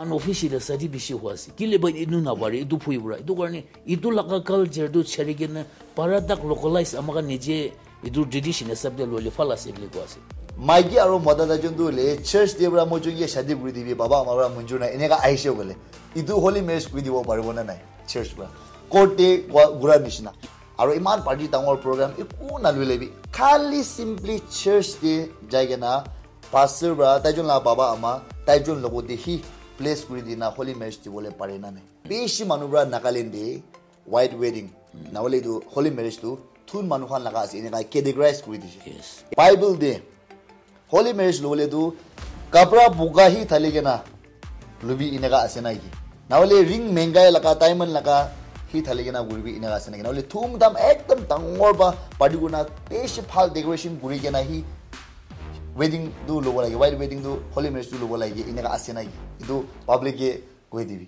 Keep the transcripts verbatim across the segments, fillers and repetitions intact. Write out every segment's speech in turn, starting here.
Unofficial shadi bishi hua ase. Kile ba inu na pare, itu phui pura. Itu karne, itu laga culture tu chari kena, para tak localize ama khan nije, itu tradition hisab de lole phal ase bole koi ase. Maiki aro mota ta jun tu le, church de pura mo jun ke shadi kuri dibi, baba ama pura munjur na, eneka ahishe kole. Itu holy marriage kuri dibo paribo na nai, church pura. Court de gua-, gura nishina. Aro iman party dangor program, iku na lule bi. Khali simply church de jai kena, pastor pura, tai jun la baba ama, tai jun logo de hi place kuri dina holy marriage dibole pare na nai. Bishi manu pura Nagaland de white wedding, na hole tu holy marriage tu thun manu khan laga ase, eneka categorize kuri dishe. Yes. Bible de holy marriage lobole tu kapra buga hi thali kena lubi eneka ase na ki? Na hole ring mengai laga, diamond laga hi thali kena guribi eneka ase na ki? Na hole thum dham ekdam dangor ba party kurna bishi bhal decoration kuri kena hi wedding tu lobo lage, white wedding tu holy marriage tu lobo lage, eneka ase na ki? Itu public ke koi dibi.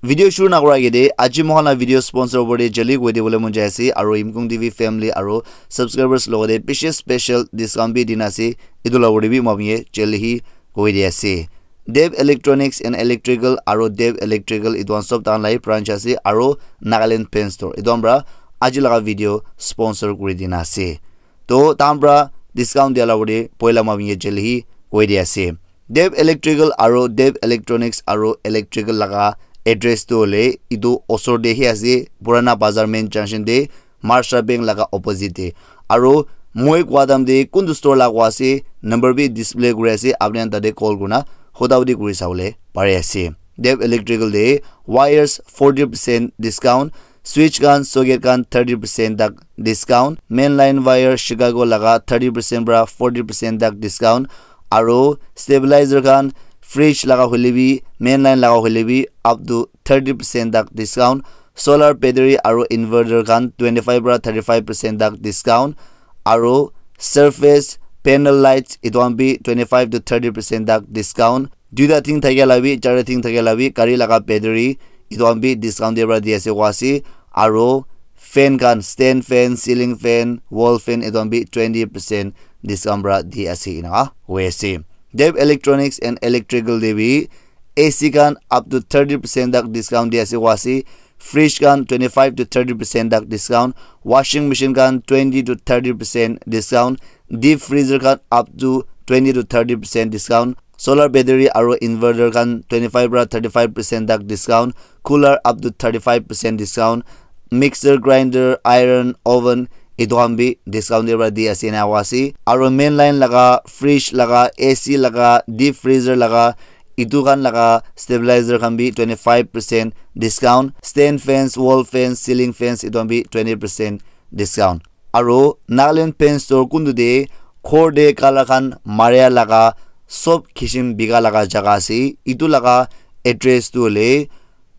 Video shuru nakura agede, aji mohan la video sponsor opor de jali koi dibole mon jai ase, aro Yimkung T V family aro subscribers logote bishi special discount bi dina ase, etu la opor de bi moi apni ke jali hi koi di ase. Dev Electronics and Electrical aro Dev Electrical etu khan sob tahan la hi branch ase, aro Nagaland Pen Store etu khan pra aji laga video sponsor kuri dina ase. To tahan pra discount dia la opor de poila moi apni ke jali hi koi di ase. Dev Electrical aro Dev Electronics aro Electrical laga address tu hole etu osor de hi ase, Purana Bazar main junction de, Maharashtra Bank laga opposite de. Aro moi kua dam de kuntu store la kua ase, number bi display kuri ase, apni khan tate call kurina hota hoti kuri sabole pari ase. Dev Electrical de wires forty percent discount, switch khan, socket khan thirty percent tak discount, main line wire Chicago laga thirty percent pra forty percent tak discount, aro stabilizer khan, fridge laga hoile bi, main line laga hoile bi, up to thirty percent tak discount, solar battery aro inverter khan twenty-five pra thirty-five percent tak discount, aro surface panel lights etu khan bi twenty-five to thirty percent tak discount, duita thing thakia la bi, charta thing thakia la bi, gari laga battery etu khan bi discount de pra di ase koi ase, aro fan khan, stand fan, ceiling fan, wall fan etu khan bi twenty percent discount pra di ase eneka hoi ase. Dev Electronics and Electrical de bi A C khan up to thirty percent tak discount di ase koi ase, fridge khan twenty-five to thirty percent tak discount, washing machine khan twenty to thirty percent discount, deep freezer khan up to twenty to thirty percent discount, solar battery aro inverter khan twenty-five pra thirty-five percent tak discount, cooler up to thirty-five percent discount, mixer, grinder, iron, oven etu khan bi discount de pra di ase eneka koi ase, aro main line laga, fridge laga, A C laga, deep freezer laga, etu khan laga stabilizer khan bi twenty-five percent discount, stand fans, wall fans, ceiling fans etu khan bi twenty percent discount. Aro Nagaland Pen Store kuntu de ghor de color khan maria laga sob kishim bika laga jaga ase. Etu laga address tu hole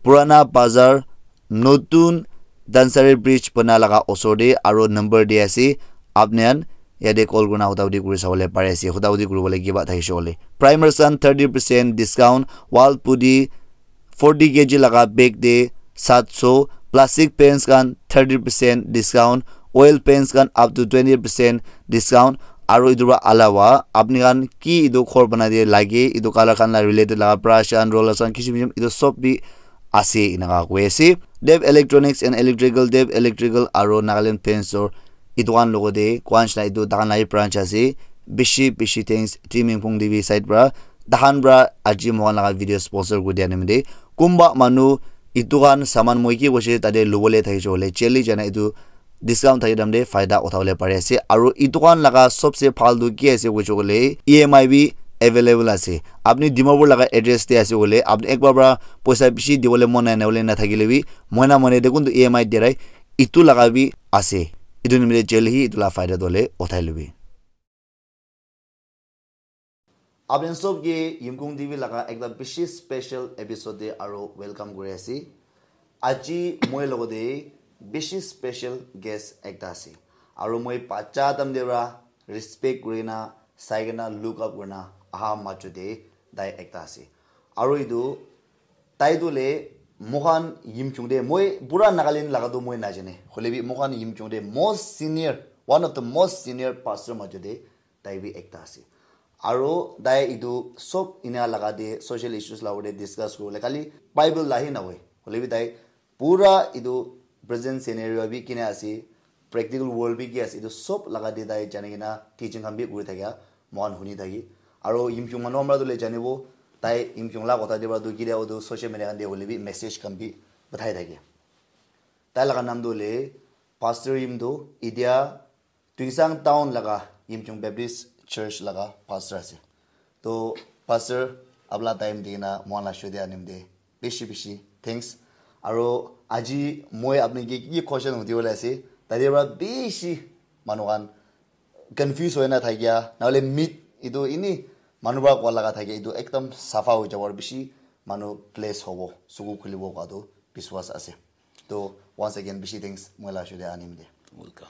Purana Bazar, notun Dansari Bridge bana laga osor de, aro number de ase. Apni khan yate call kurina hota hoti kuri sabole pari ase. Hota hoti kuribole kiba thakishe kole, primers khan thirty percent discount, wall putty forty K G laga bag de sat so, plastic pans khan thirty percent discount, oil pans khan up to twenty percent discount. Aro etu pra alawa apni khan ki etu ghor banai de lage, etu color khan la related laga brush khan, rollers khan, kishim kishim etu sob bi ase eneka koi ase. Dev Electronics and Electrical, Dev Electrical aro Nagaland Pen Store etu khan logote koi nishina etu tahan la hi branch ase. Bishi bishi thanks Team Yimkung T V side pra, tahan pra aji mohan laga video sponsor kuri dia nimite. Kunba manu etu khan saman moi ki koise tate lobole thakishe kole jali jana etu discount thaki dam de faida uthabole pari ase. Aro etu khan laga sobse bhal tu ki ase koishe kole E M I bi available ase. Apni Dimapur laga address de ase kole apni ekbar pra poisa bishi dibole mon nai na hole na thakile bi mohina mohina de kuntu E M I dirai etu laga bi ase. Etu nimite jali hi etu la faida tu hole uthai lobi. Apni khan sob ke Yimkung T V laga ekta bishi special episode de aro welcome kuri ase. Aji moi logote bishi special guest ekta ase. Aro moi bacha time de pra respect kurina, sai kena look up kurina aha majo de tai ekta ase. Aro etu tai tu le Moikhan Yimkhiung te, moi pura Nagaland laga tu moi najane. Hoile bi moikhan Yimkhiung te most senior, one of the most senior pastor majo te tai bi ekta ase. Aro tai etu sob ena laga te social issues la ute discuss kuribole khali Bible la hi nahoi. Hoile bi tai pura etu present scenario bi kina ase, practical world bi ki ase, etu sob laga te tai jani kena teaching khan bi kuri thakia moikhan huni thaki. Aro Yimkhiung manu khan para tu le janibo, tai Yimkhiung la kotha te para tu kile utu social media khan te hoile bi message khan bi pathai thake. Tai laga naam tu hoile Pastor Yim tu, etia Tuensang town laga Yimkhiung Baptist Church laga pastor ase. To pastor, apna time di kena moikhan la show te anim te bishi bishi thanks. Aro aji moi apni ke ki question hudi bole ase, tate para bishi manu khan confuse hoi na thakia, nahole mit etu ini manu para koa laga thakia, etu ekdam safa hoi jabo, aro bishi manu bless hobo, suku khulibo koa tu biswas ase. To once again bishi thanks moi la show te anim te. Welcome.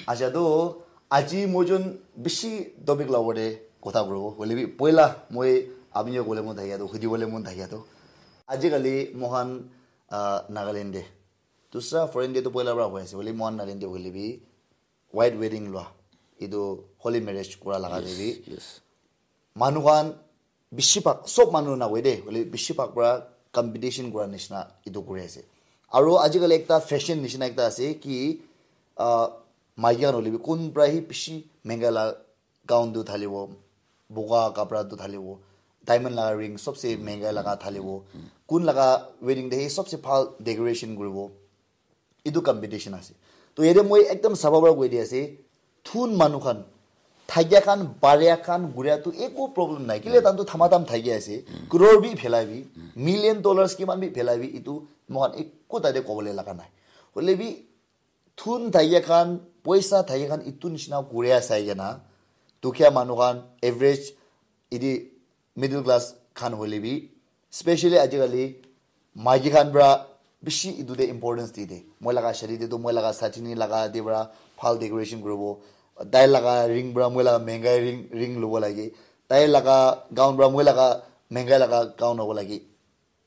Acha, to aji moi jun bishi topic la ute kotha kuribo. Hoile bi poila moi apni ke kole mon thakia to, hudi bole mon thakia to, aji kali moikhan, ah, Nagaland te, dusra foreign te to poila para hoi ase, hoile moikhan Nagaland te hoile bi white wedding lua, etu holy marriage kura laga te bi Yes. manu khan bishi bhag, sob manu nahoi de, hoile bishi bhag para competition kura nishina etu kuri ase. Aro ajikali ekta fashion nishina ekta ase ki, ah, maiki khan hoile bi kun para hi bishi menga la gown tu thalibo, boga kapra tu thalibo, diamond laga ring sobse menga laga thalibo, kun laga wedding te hi sobse bhal decoration kuribo. Etu competition ase. To yate moi ekdam safa para koi di ase, thun manu khan, thakia khan, baria khan, guria tu eko problem nai. Kile tantu thamatam thakia ase, crore bi phelai bi, million dollars kiman bi phelai bi, etu moikhan eko tate kobole laga nai. Hoile bi thun thakia khan, poisa thakia khan, etu nishina guria sai kena, dukhia manu khan, average, iti middle class khan hoile bi, specially ajikali maiki khan para bishi etu te importance di de. Moi laga shadi te tu moi laga satini laga te para bhal decoration kuribo. Tai laga ring para moi laga mengai ring, ring lobo lage. Tai laga gown para moi laga mengai laga gown hobo lage.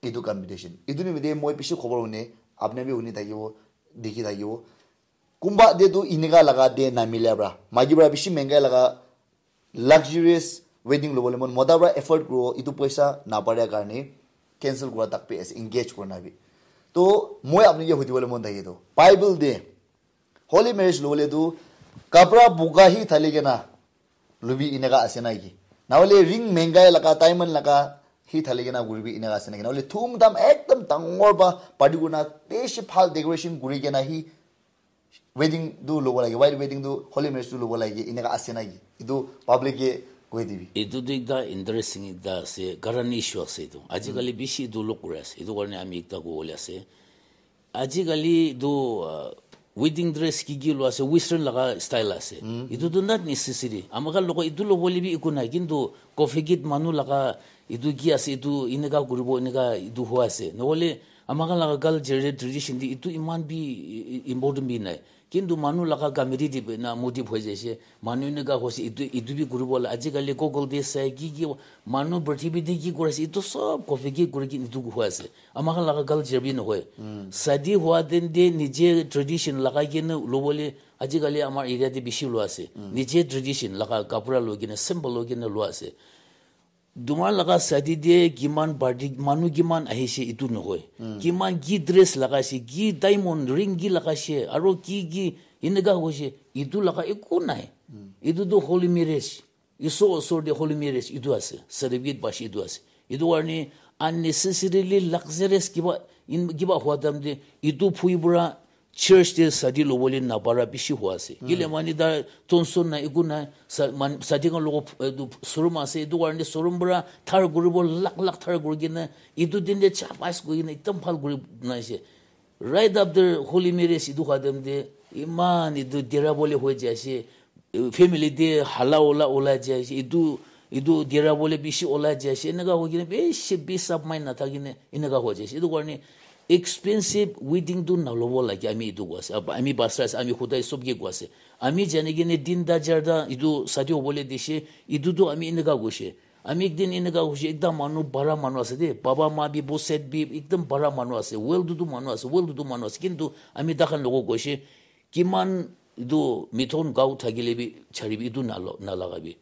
Etu competition. Etu nimite moi bishi khobor hune, apni bi huni thakibo, dikhi thakibo. Kunba te tu inika laga te namila para. Maiki para bishi mengai laga luxurious wedding lobole mon, mota para afford kuribo, etu poisa naparia karne cancel kura tak bi ase, engage kurina bi. To moi apni ke hudi bole mon thaki to, Bible te holy marriage lobole tu kapra buga hi thali kena lubi eneka ase na ki? Nahole ring mengai laga, diamond laga hi thali kena kuribi eneka ase na ki? Nahole thum dham ekdam dangor para party kurina bishi bhal decoration kuri kena hi wedding tu lobo lage, white wedding tu holy marriage tu lobo lage, eneka ase na ki? Etu public ke koi dibi. Etu tu ekta interesting ekta ase, current issue ase etu. Ajikali bishi etu log kuri ase. Etu karne ami ekta kobole ase. Ajikali etu, ah, wedding dress ki ki lua ase, western laga style ase. Etu tu not necessary. Ama khan logo etu lobole bi eku nai, kintu coffee gate manu laga etu ki ase, etu eneka kuribo, eneka etu hua ase. Nohole ama khan laga culture te, tradition te etu iman bi i-, i-, important bi nai. Kintu manu laga comedy te bi na motive hoi jaise. Manu eneka hoise, etu, etu bi kuribo la. Ajikali Google te sai ki ki manu prithibi te ki kuri ase, etu sob copy ki kuri ki etu hoi ase. Ama khan laga culture bi nohoi. Shadi hua din te nije tradition lagai kena lobole ajikali amar area te bishi lua ase. Nije tradition laga kapra loi kena, simple loi kena lua ase. Tomar laga shadi te kiman party, manu kiman ahise, etu nohoi. Kiman ki dress lagaise, ki diamond ring ki lagaise, aro ki ki eneka hoise, etu laga eku nai. Etu tu holy marriage. Isor osor te holy marriage etu ase, certificate paise etu ase. Etu karne unnecessarily luxurious kiba, in, kiba hua time te etu phui pura church te shadi lobole napara bishi hua ase. Kile mane tar tonson na eku na, sa-, man-, shadi khan logo, etu showroom ase, etu karne showroom pura thar kuribo, lakh lakh thar kuri kena, etu din te cha pass kuri kena ekdam bhal kuri banai ase. Right after holy marriage etu hua time te iman etu dera bole hoi jai ase, family te hala ola ola jai ase, etu, etu dera bole bishi ola jai ase, eneka hoi kena bishi peace of mind nathaki kena eneka hoi jai ase. Etu karne expensive wedding tu nalobo lage, ami etu koi ase, ami pastor ase, ami khudai sob ke koi ase, ami jani kena tinta charta etu shadi hobole dise, etu tu ami eneka koise. Ami ekdin eneka hoishe, ekta manu bara manu ase de, baba ma bi, bo set bi, ekdam bara manu ase, well to do manu ase, well to do manu ase, kintu ami takhan logo goishe, kiman etu mithon gao thakile bi charibi, etu nalo-, nalagabi.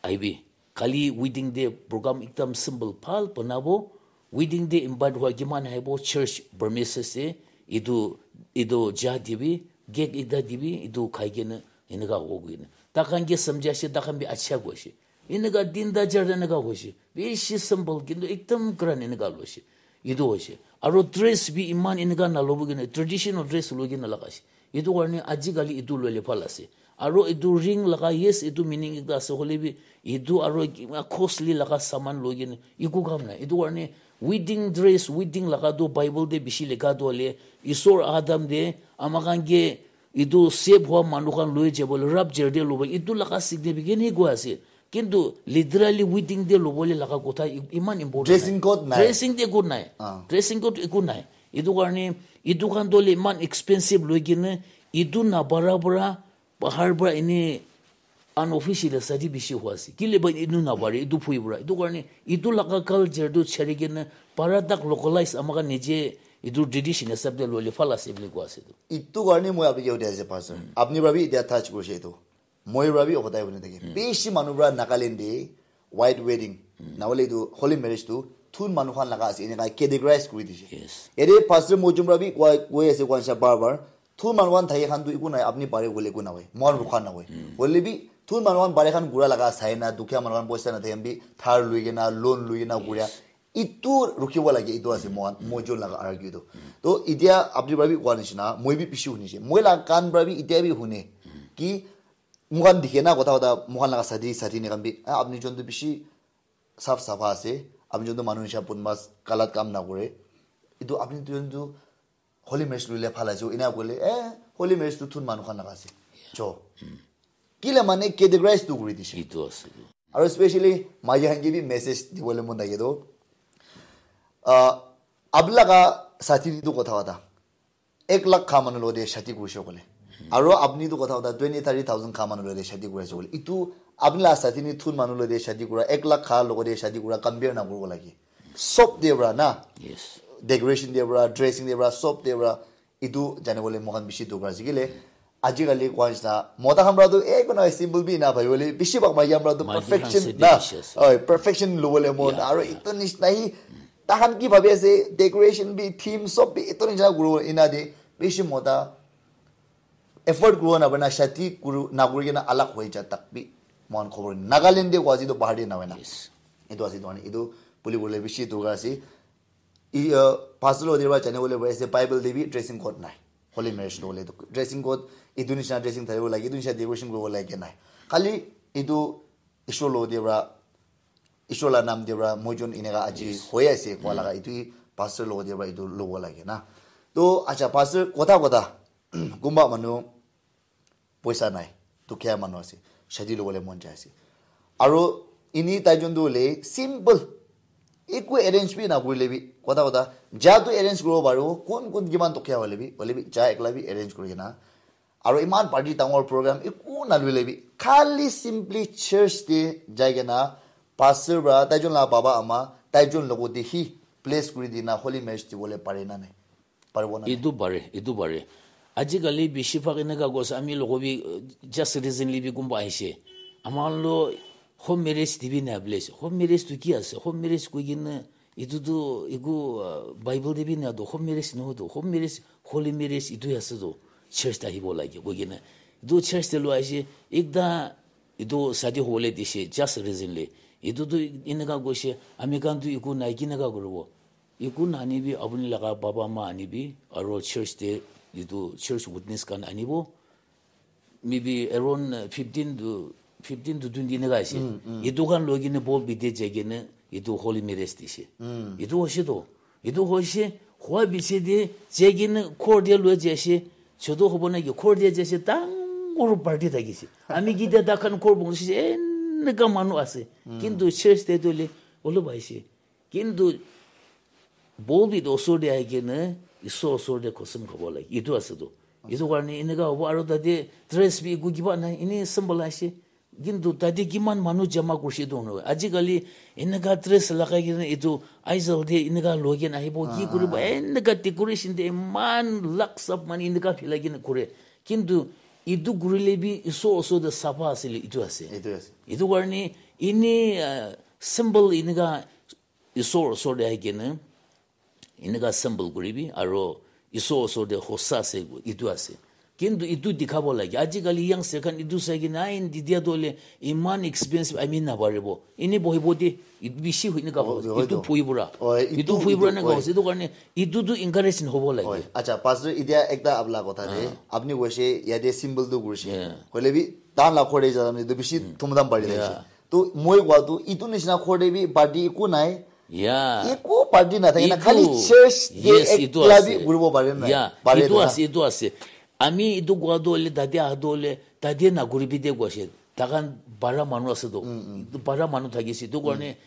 Aibi. Kali wedding day program ekdam simple, bhal banabo. Wedding day invite hua kiman aibo, church premises te, etu, etu ja dibi, cake ekta dibi, etu khai kena, eneka hobo koina. Takhan ke samjha ase, takhan bi acha koishe. Eneka tinta charta eneka hoishe. Bishi simple, kintu ekdam grand eneka loishe. Etu hoishe. Aro dress bi iman eneka nalobo kena, traditional dress loi kena laga ase. Etu karne ajikali etu loile bhal ase. Aro etu ring laga, yes, etu meaning ekta ase, hoile bi etu aro kiba costly laga saman loi kena eku kam nai. Etu karne wedding dress, wedding laga tu Bible te bishi likha tu hoile, Isor Adam te ama khan ke etu save hua manu khan loi jabo le rapture te lobo, etu laga significant he koi ase. Kintu literally wedding te lobo le laga kotha i-, iman important nai. Dressing code nai. Dressing te eku nai. Ah. Dressing code eku nai. Etu karne, etu khan to le iman expensive loi kena, etu nabara para, bahar para ene unofficial shadi bishi hua ase. Kile ba etu nabare, etu phui para. Etu karne, etu laga culture tu chari kena, para tak localize ama khan nije, etu tradition hisab te loile bhal ase bole koi ase tu. Etu karne moi apni ke hudi ase, Pastor. Apni para bi etia touch korise etu. Moi para bi hodai huni thake. Bishi manu para Nagaland te white wedding, nahole etu holy marriage tu thun manu khan laga ase, eneka categorize kuri dishe. Yes. Ede Pastor Mojum para bi koi, koi ase, koi ase bar bar. Thun manu khan thake khan tu eku nai, apni pare koile eku nahoi. Moi khan rukha nahoi. Hoile bi thun manu khan pare khan kura laga sai na, dukhia manu khan poisa na thake bi, dhar loi kena, loan loi kena kuria. Etu rukhibo lage, etu ase mohan, Mojum laga argue tu. To, etia apni para bi koa nishina, moi bi bishi hunishe. Moi laga kan para bi etia bi hune. Ki, moikhan dikhe na, kotha kotha, moikhan laga sati, sati ni khan bi, "Ah, apni jon tu bishi saf sapha ase, apni jon tu manu nisha bun mas galat kam na kore. Etu apni jon tu holy marriage loile bhal ase," ena koile, "Eh, holy marriage tu thun manu khan laga ase." Cho. Kile mane categorize tu kuri dishe. Etu ase. Aru especially maiki khan ke bi message dibole mon thake tu, ah, apni laga sati tu kotha kotha ek lakh kha manu logote shadi kurise koile. Aro apni tu kotha kotha twenty, thirty thousand kha manu logote shadi kuri ase koile. Etu apni la sati ni thun manu logote shadi kura, ek lakh kha logote shadi kura, compare na kuribo lage. Sob te para na. Yes. Decoration te para, dressing te para, sob te para. Etu jani bole moikhan bishi dorkar ase. Kile, ajikali koa nishina, mota khan para tu, eh, ekuna simple bi na bhabi bole, bishi bhag maiki khan para tu perfection na. Oi, perfection lobole mon. Aro etu nishina hi, takhan ki bhabi ase, decoration bi, theme sob bi, etu nishina kuru ena de, bishi mota afford kuru na bana, shadi kuru, na kuri kena alag hoi ja tak bi, moikhan khobor. Nagaland de koa ase to bahar de na hoi na. Yes. Etu ase to, etu buli bole bishi dorkar ase. I, uh, pastor lo deba jane bole bole ase, Bible de bi dressing code nai. Holy marriage lo bole to dressing code, etu nishina dressing tharibo lage, etu nishina decoration kuribo lage nai. Khali etu Ishwar lo deba, Ishwar la nam deba, moi jon eneka aji hoi ase koa laga, etu pastor lo deba etu lobo lage na. To, acha, pastor, kotha kotha, kunba manu, poisa nai, dukhia manu ase, shadi lobole mon jai ase. Aro ini tai jon tu hoile simple, eku arrange bi na kurile bi, kotha kotha, ja tu arrange kuribo paribo, kun kun kiman dukhia hoile bi, hoile bi ja ekla bi arrange kuri kena. Aro iman party dangor program eku na loile bi, khali simply church te jai kena, pastor para, tai jon la baba ama, tai jon logote hi bless kuri dina holy marriage dibole pare na nai? Paribo na? Etu pare, etu pare. Ajikali bishi bhag eneka koi ase, ami logo bi, uh, just recently bi kunba ahishe. Ama lo home marriage dibi na bole ase. Home marriage tu ki ase? Home marriage koi kena, etu tu eku, uh, Bible de bi na to, home marriage nohoi to. Home marriage, holy marriage etu ase to. Church te ahibo lage koi kena. Etu church te loi ahishe, ekta etu shadi hobole dishe, just recently. Etu tu eneka koishe, ami khan tu eku nai, keneka kuribo? Eku nani bi apuni laga baba ma ani bi, aro church te etu church witness khan anibo. Maybe around fifteen to, fifteen to twenty neka ase. Etu khan loi kena bol bide jai kena etu holy marriage dise. Etu hoise to. Etu hoise, hua biche de jai kena ghor de loi jai ase. Chotu hobo na ki ghor de jai ase, dangor party thakise. Ami kita takhan ghor bongsi se, eneka manu ase. Kintu church te tu le olop aise. Kintu bol bi tu osor te ahi kena Isor osor te khosum khabo lage. Etu ase tu. Etu karne eneka hobo, aro tate dress bi eku kiba nai, ene simple ase. Kintu tate kiman manu jama kurishe etu hono. Ajikali eneka dress lagai kena etu Aizawl te eneka loi kena ahibo, ki kuribo, eneka decoration te iman lakhs of manu eneka philai kena kure. Kintu etu kurile bi isor osor te sapha asile etu ase. Etu ase. Etu karne ene, ah, simple eneka isor osor te ahi kena eneka simple kuribi, aro isor osor te hosa ase, etu ase. Kintu etu dikhabo lage. Ajikali youngster khan etu sai kena, "Ai, India to hoile iman expensive, ami naparibo." Ene bohibo de, etu bishi hoi eneka hobo. Etu phui pura. Etu phui pura eneka hoise. Etu karne etu tu encourage hobo lage. Acha, pastor, etia ekta apla kotha de, apni koise yate simple tu kurise. Hoile bi, dan la khore jana etu bishi thumdam bari thakise. To moi kowa tu, etu nishina khore bi party eku nai. Yeah. Eku party nathake na, khali church te ekla bi kuribo pare na. Yeah, etu ase, etu ase. Ami etu kowa tu hoile, tate aha tu hoile, tate nakuribi de koise. Takhan bara manu ase to. Etu bara manu thakise. Etu karne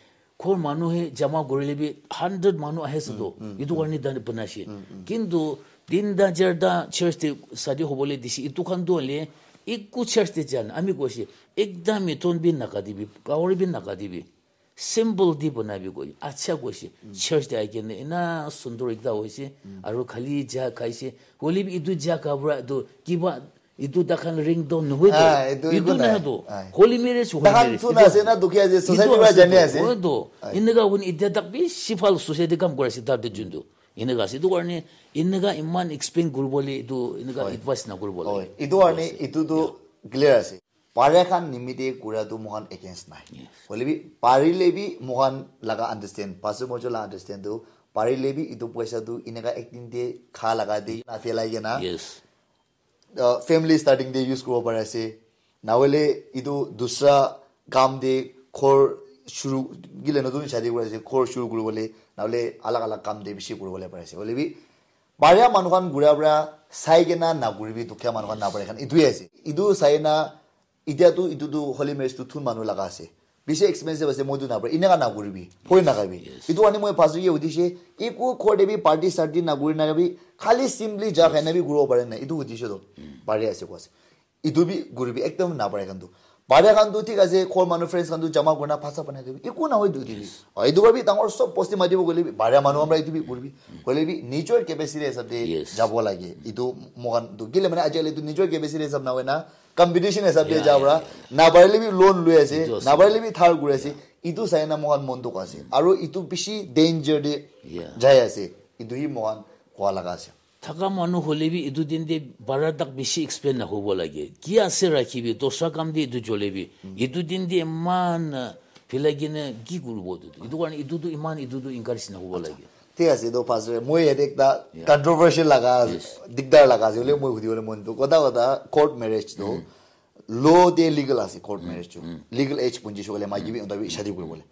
ghor manu he jama kurile bi hundred manu ahi ase to. Etu karne tate banaise. Kintu tinta charta church te shadi hobole dise. Etu khan tu hoile eku church te jan. Ami koise, ekdam mithun bi nakatibi, kawari bi nakatibi. Simple di banabi koi, acha koise. Church te ahi kena ena sundur ekta hoise, aru khali ja khaise. Hoile bi etu ja kapra tu kiba etu takhan ring to nohoi to. Ah, etu eku nai. Etu naha to. Holy marriage, holy marriage. Takhan tu na ase na, dukhi ase, society para jani ase. Hoi to. Eneka hoi kena etia tak bishi bhal society kam kuri ase tate jun tu. Eneka ase. Etu karne eneka iman explain kuribole etu eneka advice nakuribo lage. Etu karne etu tu clear ase. Pare khan nimite kura tu moikhan against nai. Hoile bi, parile bi moikhan laga understand, Pastor Mojo la understand tu, parile bi etu poisa tu eneka ekdin te kha laga de na phelai kena, uh, family starting te use kuribo pari ase. Nahole etu dusra kam te ghor shuru, gile notun shadi kuri ase, ghor shuru kuribole, nahole alag alag kam te bishi kuribole pari ase. Hoile bi, Baria manu khan gura bra sai kena na kuribi, dukhia manu khan na pare khan. Etu he ase. Etu sai na, etia tu, etu tu holy marriage tu thun manu laga ase. Bishi expensive ase, moi tu na pare. Eneka na kuribi. Phone na khabi. Etu ani moi pastor ke udishe, eku khor de bi party sarty na kuri na bi, khali simply ja khai na bi kuribo pare na. Etu udishe to. Pare ase ko ase. Etu bi kuribi, ekdom na pare khan tu. Baria khan tu thik ase, ghor manu friends khan tu jama kurina phasa banai dibi. Eku na hoi tu dibi. Aru etu para bi dangor sob bosti matibo koile bi, baria manu khan para etu bi kuribi. Koile bi, nijor capacity hisab te jabo lage. Etu moikhan tu kile mane ajikali tu nijor capacity hisab na hoina, competition hisab te ja para, na parile bi loan loi ase, na parile bi dhar kuri ase. Etu sai na moikhan mon dukh ase. Aru etu bishi danger te jai ase. Etu hi moikhan koa laga ase. Thaka manu hoile bi etu din te bara tak bishi explain na hobo lage. Ki ase rakhibi, dosra kam te etu jole bi. Etu din te iman, ah, philai kena ki kuribo etu? Etu karne etu tu iman, etu tu encourage na hobo lage. Thik ase, etu pastor, moi yate ekta controversial laga, dikdar laga ase, hoile moi hudi bole mon tu. Kotha kotha, court marriage tu, law te legal ase, court marriage tu. Legal age punji shokole, maiki bi unta bi shadi kuribole.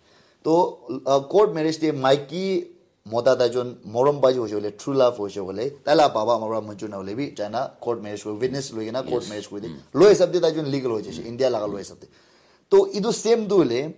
To, ah, court marriage te maiki mota tai jon morom pai hoise koile, true love hoise koile, tai la baba ama para manjur na hoile bi, jai na court marriage kuri, witness loi kena court marriage kuri de. Law hisab te tai jon legal hoi jaise, India laga law hisab te. To etu same tu hoile,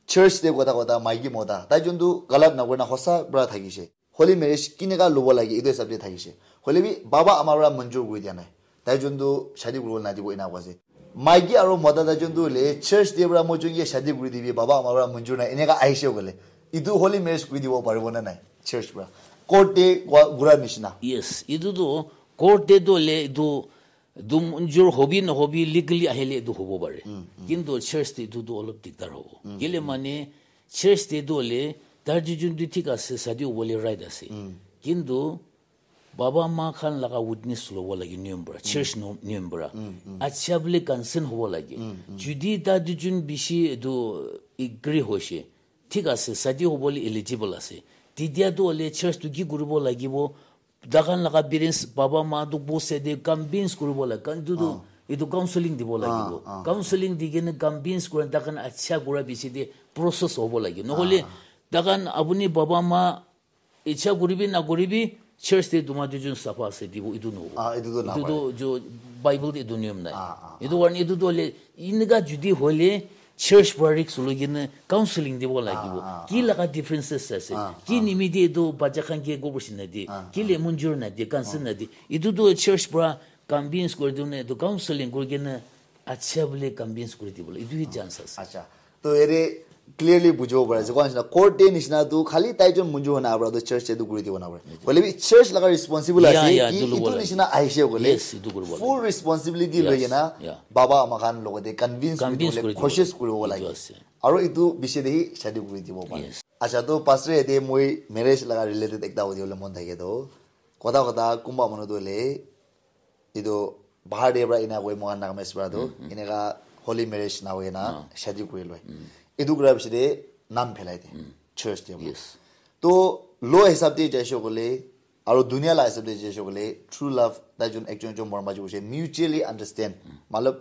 church te kotha kotha, maiki mota, tai jon tu galat na kuri na hosa para thakise. Holy marriage kineka lobo lage, etu hisab te thakise. Hoile bi, baba ama para manjur kuri dia nai. Tai jon tu shadi kuribo nadibo ena koa ase. Maiki aru mota tai jon tu hoile church te para moi jon ke shadi kuri dibi, baba ama para manjur nai, eneka ahise koile, etu holy marriage kuri dibo paribo na nai church para? Court te koa gura nishina. Yes, etu tu court te tu hoile etu, etu manjur hobi na hobi legally ahile etu hobo pare. Kintu church te etu tu olop dikdar hobo. Kile mane church te tu hoile tar dujon tu thik ase, shadi hobole right ase. Kintu baba ma khan laga witness lobo lage niyom para, church no-, niyom para. Acha bole consent hobo lage. Judi ta dujon bishi etu agree hoise, thik ase, shadi hobole eligible ase, tetia tu hoile church tu ki kuribo lagibo? Takhan laga parents, baba ma tu both side te convince kuribo lage. Kan tu tu etu counseling dibo lagibo. Counseling di kena convince kura, takhan acha kura bishi te process hobo lage. Nohole takhan apuni baba ma icha kuribi na kuribi, church te tuma dujon sapha ase dibo, etu nohobo. Ah, etu tu etu napai. Tu jo Bible te etu niyom nai. Ah, ah, etu karne etu tu hoile, eneka judi hoile, church para risk loi kena counseling dibo lagibo. Ah, ah, ki laga differences ase? Ki nimite etu bacha khan ke go bosi na di? Ki le manjur na di, consent na di? Etu tu church para convince kuri dine, etu counseling kuri kena Acha bole convince kuri dibole etu hi chance ase. Acha. To ere clearly bujibo pare ase. Koa nishina court te nishina tu khali tai jon munju hona abra to church te tu kuri dibo na pare. Hoile bi church laga responsible ase ki etu nishina ahishe kole. Yes, etu kuribo lage. Full responsibility loi kena baba ama khan logote convince kuri dibole koshish kuribo lage. Aro etu bishe de hi shadi kuri dibo pare. Acha, to pastor ete moi marriage laga related ekta hudi bole mon thake to. Kotha kotha kumba manu tu le etu bahar te pra ena koi mohan Nagamese pra tu eneka holy marriage na hoi na shadi kuri loi. Etu kura bishe de nam phelai de church te. Yes. To law hisab te jaishe kole aro dunia la hisab te jaishe kole true love tai jon ekjon ekjon morom baji hoise mutually understand. Matlab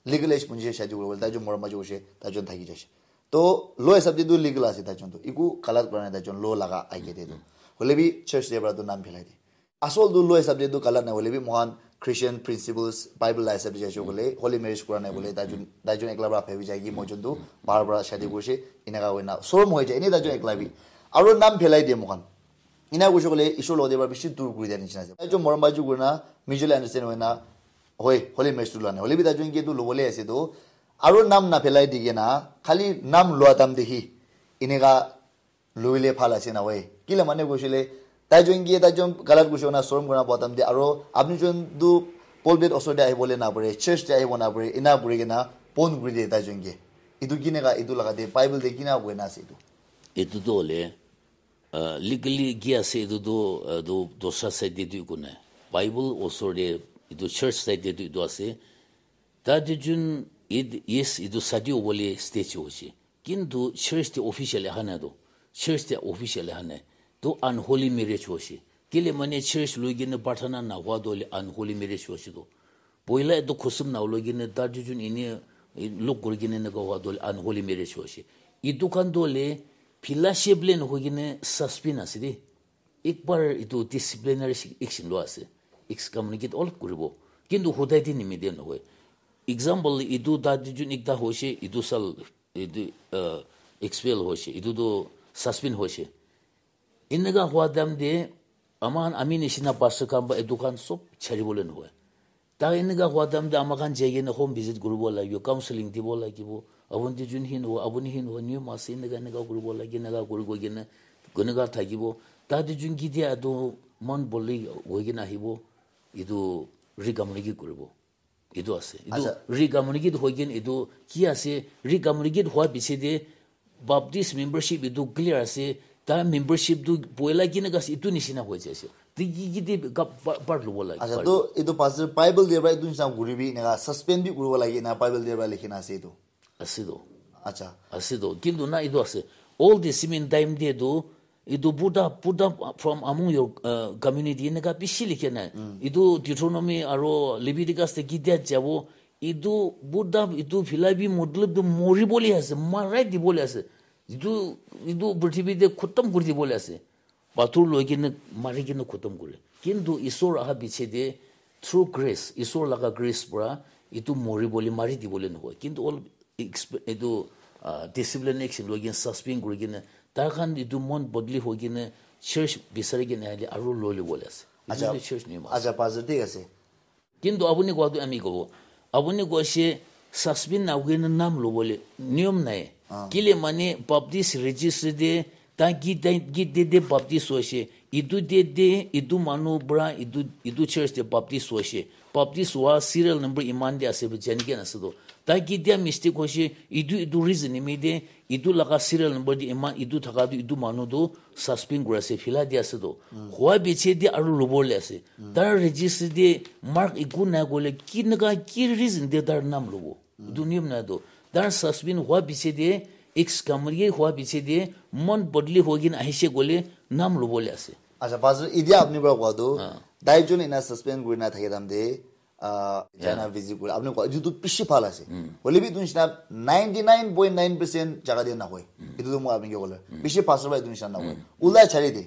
legal age punji shadi kuri bole tai jon morom baji hoise tai jon thaki jaise. To law hisab te tu legal ase tai jon tu. Iku galat kura nai tai jon law laga age te tu. Hoile bi church te pra tu nam phelai de. Asol tu law hisab te tu galat nai hoile bi mohan Christian principles Bible la hisab te jaise hoile holy marriage kura nai hoile tai jon tai jon ekla pra bhabi jai ki moi jon tu bahar pra shadi kurise eneka hoina sorom hoi jai ene tai jon ekla bi aro nam phelai de mohan ena kurise hoile Ishwar logote pra bishi dur kuri dia nishina ase tai jon morom baji kurina mutually understand hoina hoi holy marriage tu lua nai hoile bi tai jon ke tu lobole ase tu aro nam na phelai di kena khali nam lua tam de hi eneka loile bhal ase na hoi. Kile mane koisile, tai jon ke tai jon galat koise na sorom kurna patam de, aro apni jon tu pulpit osor de ahibole na pare, church de ahibo na pare, ena kuri kena pon kuri de tai jon ke. Etu kineka, etu laga de, Bible de kina koina ase etu? Etu tu hole, uh, legally ki ase etu tu, uh, tu dosra side de tu eku nai. Bible osor de, etu church side de tu etu ase. Tate jun id-, yes, etu sadi hobole stage hoise. Kintu church te officially aha nai to. Church te officially aha nai. To unholy marriage hoise. Kile mane church loi kena prarthana na hua to le unholy marriage hoise to. Poila etu khusum na loi kena tate jun ine, eh, lok kuri kena na hua to le unholy marriage hoise. Etu khan to le phila shape le na hoi kena suspend ase de. Ekbar etu disciplinary action lua ase, excommunicate olop kuribo, kintu hodai te nimite nohoi. Example, etu ta duijun ekta hoise, etu sal, etu, uh, expel hoise, etu tu suspend hoise. Eneka hua time te ama khan, ami nishina pastor khan ba etu khan sob chari bole nohoi. Ta eneka hua time te ama khan jai kena home visit kuribo lagibo, counseling dibo lagibo. Apuni tu jun hin ho, apuni hin ho, niyom ase, eneka eneka kuribo lage, eneka kuri koi kena, eneka thakibo. Ta tu jun ki dia tu mon boli hoi kena ahibo, etu recommunicate kuribo. Etu ase. Etu recommunicate hoi kena etu ki ase, recommunicate hua piche te Baptist membership etu clear ase, ta membership tu poila kineka ase, etu nishina hoi jai ase. Ti ki ki ti ka pa-, part lobo lage, acha, part to lobo. Etu pastor Bible de pra etu nishina kuri bi eneka suspend bi kuribo lage, eneka Bible de pra likhina ase etu. Ase to. Acha. Ase to. Kintu na etu ase. All the same in time de tu, etu Buddha, Buddha from among your, uh, community eneka bishi likhe nai. Etu Deuteronomy aro Leviticus te ki dia jabo, etu Buddha, etu phila bi matlab tu mori bole ase, marai di bole ase. Etu, etu prithibi te khotom kuri di bole ase. Pathor loi kena mari kena khotom kure. Kintu Isor aha piche te through grace, Isor laga grace pra etu mori bole, mari di bole nohoi. Kintu all exp-, etu, ah, discipline action loi kena suspend kuri kena, tar khan etu mon bodli hoi kena church bisari kena ahile aro loi le bole ase. Etu acha, tu church niyom ase. Acha, pastor, thik ase. Kintu apuni kowa tu ami kobo. Apuni koise suspend na hoikena nam lobole niyom nai. Ah. Kile mane Baptist registry te ta ki date, ki date te Baptist hoise. Etu date te etu manu pra etu, etu church te Baptist hoise. Baptist hua serial number iman de ase bi jani kena ase to. Ta ki dia mistake hoise, etu, etu reason nimi de Etu laga serial number de iman etu thaka tu etu manu tu suspend kuri ase, phila di ase to. Hua piche de aru lobole ase. Tar registry de mark eku nai koile kineka ki reason de tar naam lobo? Etu niyom nai to. Tar suspend hua piche de, excommunicate hua piche de, mon bodli hoi kena ahise koile naam lobole ase. Acha, Pastor, idia apni para kowa tu, ah, dai jon ena suspend kuri na thake time de, ah, China visit kuri, apni kowa, etu tu bishi bhal ase. Hoile bi etu nishina ninety nine point nine percent jaga de nahoi. Etu tu moi apni ke kole. Bishi pastor ba etu nishina nahoi. Ulai chari de.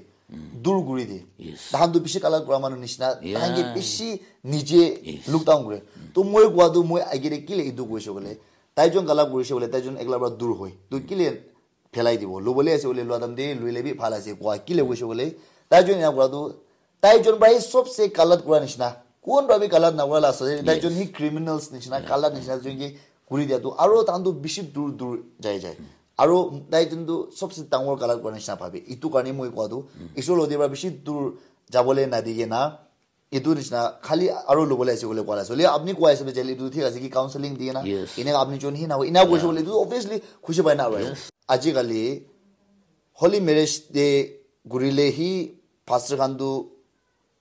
Dur kuri de. Yes. Tahan tu bishi galat kura manu nishina. Tahan ke bishi nije look down kure. To moi kowa tu moi age de kile etu koise koile. Tai jon galat kurise koile, tai jon ekla para dur hoi. To kile phelai dibo. Lobole ase koile lua time de, loile bi bhal ase kowa. Kile koise koile, tai jon ena kura tu, tai jon para hi sobse galat kura nishina. Kun pra bi galat nakura la ase, tai jon hi criminals nishina, galat nishina jon ki kuri dia tu, aro tahan tu bishi dur dur jai jai. Aro tai jon tu sobse dangor galat kura nishina bhabe. Itu karne moi koa tu, Isor lode pra bishi dur jabole nadikena, itu nishina khali aro lobole ase koile koa la ase. Hoile apni koa ase, jale itu thik ase ki counseling dikena, ena apni jon hi na, ena koise koile itu obviously khushi pai na aro. Ajikali holy marriage te gurile hi pastor khan tu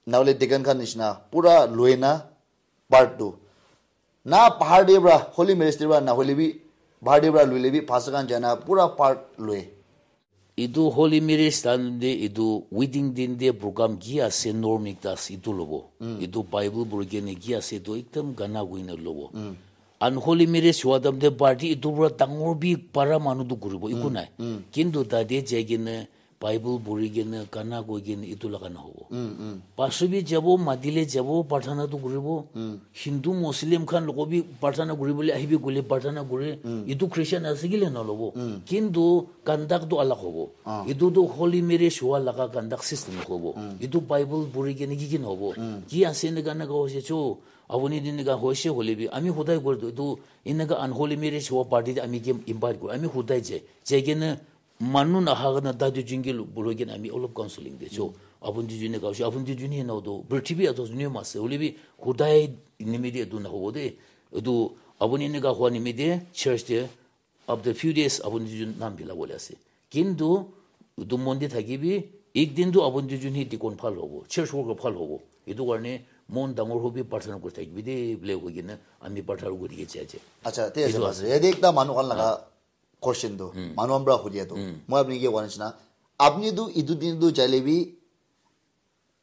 nahole deacon khan nishina pura lue na part tu. Na bahar te pra, holy marriage te pra nahole bi, bahar te pra luile bi, pastor khan jana pura part lue. Itu holy marriage time te itu wedding din te program ki ase, norm ekta ase, itu lobo. Itu Bible puri kene ki ase, itu ekdam gana kuina lobo. Unholy marriage hua time te party itu pura dangor bi para manu tu kuribo, iku nai. Kintu tate jai kene Bible puri kene gana koi kene itu laga nahobo. Pastor bi jabo, mati le jabo, prarthana tu kuribo. Hindu, Muslim khan logo bi prarthana kuribole ahibi koile prarthana kure. Itu Christian ase kile nalobo. Kintu conduct tu alag hobo. Itu tu holy marriage hua laga conduct system hobo. Itu Bible puri kene ki ki nahobo. Ki ase eneka eneka hoise cho, apuni din eneka hoise hoile bi ami hodai kore tu, itu eneka unholy marriage hua party te ami ke invite kore. Ami hodai jai. Jai kene manu naha kana ta duijun ke lo-, boloi kena ami olop counseling de cho. Apun duijun ne kaushe, apun duijun he na to, prithibi ato jun he mase, hoile bi hodai nimide etu nahobo de. Etu apuni eneka hua nimide church de, after few days apun duijun nam bila bole ase. Kintu etu mon de thakibi, ek din tu apun duijun he deacon bhal hobo, church worker bhal hobo. Etu karne mon dangor hobi prarthana kuri thakibi de, bole koi kena ami prarthana kuri ke jai jai. Acha, te ase. Etu ase. Yate ekta manu khan laga question tu, manu khan pra hudia tu. Moi apni ke koa nishina, apni tu etu din tu jaile bi,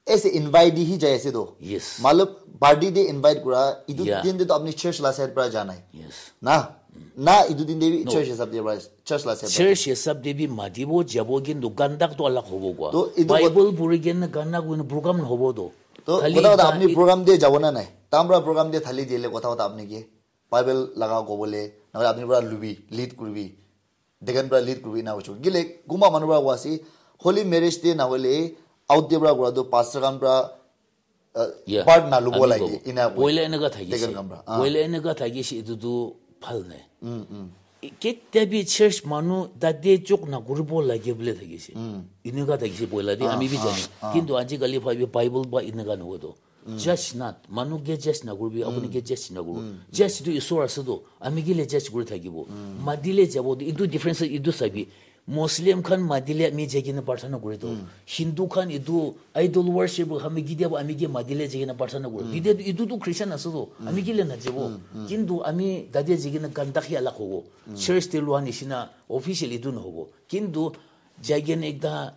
as a invitee hi jai ase tu. Yes. Matlab, party te invite kura, etu din te tu apni church la side pra ja nai. Yes. Na, na etu din te bi church hisab te pra, church la side pra. Church hisab te bi matibo jabo, kintu conduct tu alag hobo koa. To etu Bible puri kena gana koi na program nahobo to. To khali kotha kotha ta apni e- program te jabo na nai? Tamra program te thali dile kotha kotha apni ke. Bible laga kobole, nahole apni pra lubi, lead kuribi, deacon pra lead kuribi, ena hoiche. Kile, kunba manu pra koa ase, holy marriage te nahole, out te pra kura tu, pastor khan pra, uh, part nalubo lage, ena koi. Poila eneka thakise. Deacon khan pra. Ah. Poila eneka thakise, etu tu bhal nai. Mm, mm. Ketia bi church manu tate jok nakuribo lage bole thakise. Mm. Eneka thakise poila de, ah, ami bi jane. Ah. Kintu ajikali bhabi Bible ba eneka nahobo to. Judge not. Manu ke judge nakuribi, apuni ke judge nakuribi. Judge tu Isor ase to. Ami ke le judge kuri thakibo. Mati le jabo to. Etu difference etu sabi. Muslim khan mati le ami jai kena prarthana kuri to. Hindu khan etu idol worship khan bi ketia ba ami ke mati le jai kena prarthana kuri. Ketia to etu to Christian ase to. Ami ke le najabo. Kintu ami tate jai kena conduct hi alag hobo. Church te lua nishina official etu nahobo. Kintu jai kena ekta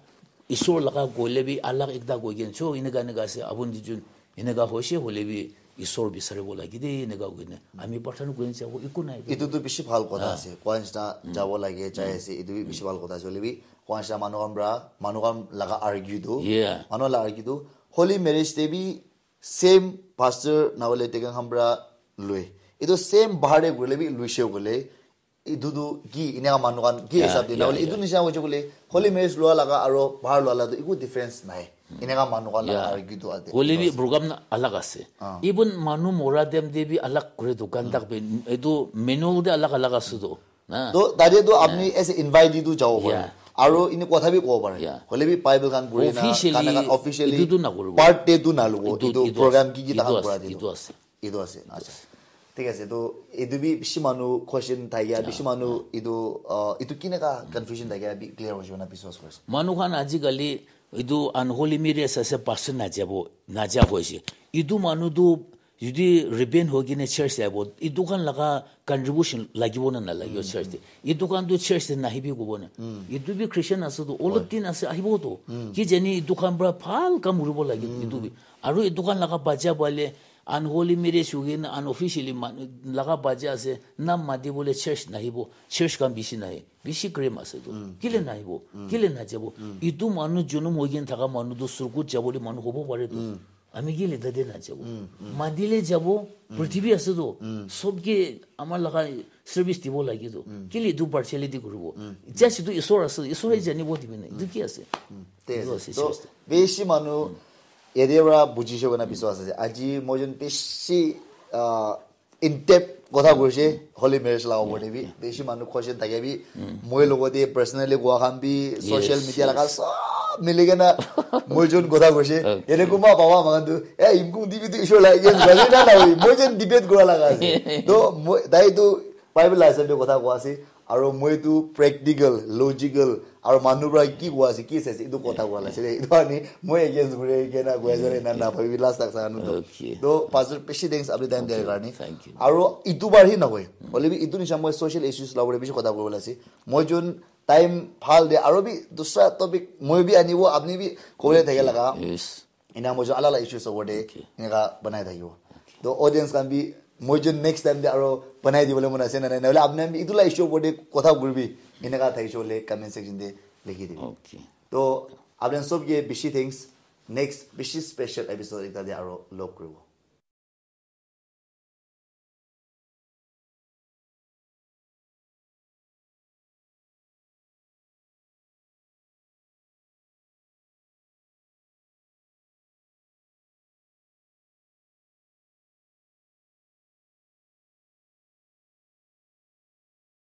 Isor laga koile bi alag ekta koi kena, "Cho, eneka eneka ase, apun duijun eneka hoise hoile bi Isor bisaribo lage de," eneka koi kena. Ami prarthana kuri kena jabo, eku nai. Etu tu bishi bhal kotha ase. Koa nishina jabo lage, jai ase, etu bi bishi bhal kotha ase. Hoile bi, koa nishina manu khan pra, manu khan laga argue tu, yeah, manu laga argue tu, holy marriage te bi same pastor nahole deacon khan pra loi. Etu same bahar te kurile bi luise koile, etu tu ki, eneka manu khan ki hisab de, nahole etu nishina hoise koile, holy marriage lua laga aro bahar lua laga tu eku difference nai. Eneka manu khan laga argue tu ate. Hoile bi program na alag ase. Ah. Even manu mora time te bi alag kore, dukan tak bi, etu manual te alag alag ase to. Na? To, tate to apni as a invitee tu jabo pare. Yeah. Aro ene kotha bi kobo pare. Yeah. Hoile bi Bible khan puri na, officially, gana khan officially etu tu nakuribo. Part te tu nalubo. Etu, etu, etu program ase. Ki ki tahan kura de. Etu ase. Etu ase, acha. Thik ase, to etu bi bishi manu question thakya, bishi manu etu, uh, etu kineka confusion thakya bi clear hoise na biswas kuri ase. Manu khan ajikali etu unholy marriage ase, pastor najabo, naja hoise. Etu manu tu jodi repent hoi kena church jabo, etu khan laga contribution lagibo na nalagibo church te. Etu khan tu church te nahibi kobo na. Etu bi Christian ase to, olop din ase ahibo to. Ki jani etu khan pra bhal kam kuribo lage etu bi. Aru etu khan laga bacha bale, unholy marriage hoikena unofficially manu laga bacha ase, nam mati bole church nahibo, church khan bishi nahe, bishi grim ase tu. Kile nahibo? Kile najabo? Itu manu junum hoikena thaka manu tu surgut jabole manu hobo pare tu. Ami kile tate najabo? Mati le jabo, prithibi ase tu. Sob ke amar laga service dibo lage tu. Kile itu partiality kuribo? Just itu Isor ase, Isor he janibo dibi na. Itu ki ase? Te itu ase, ase, to church te. Beshi manu Yate para bujishe koina biswas ase. Aji moi jun bishi, ah, in depth kotha kurishe, holy marriage la opor te bi. Bishi manu question thake bi. Moi logot te personally koa khan bi, social Yes, media laga yes. sob mili kena moi jun kotha kurishe. Okay. Yate kuma baba makan tu, eh, imkung dibi tu ishwar la against kura na na hoi. Moi jun debate kura laga ase. To moi, tai tu Bible la ase kotha koa ase. Aro moi tu practical, logical, aro manu pra ki koa ase, ki saise, etu kotha koa la ase de. Etu ani moi against kuri kena koa ase na na bhabi last tak sa anu to. Okay. To pastor bishi thanks apni time dia karne. Thank you. Aro etu bar hi na koi. Hoile bi etu nisha moi social issues la bole bishi kotha koa la ase. Moi jun time phal de aro bi dusra topic moi bi anibo apni bi kobole thake laga. Yes. Ena moi jun alala issues over de eneka banai thakibo. To audience khan bi moi jun next time de aro banai dibole mon ase na nai, nahole apni khan bi etu la issue over de kotha kuribi eneka thakishe hoile comment section de likhi dibi. Okay. To apni khan sob ke bishi thanks. Next bishi special episode ekta de aro log kuribo.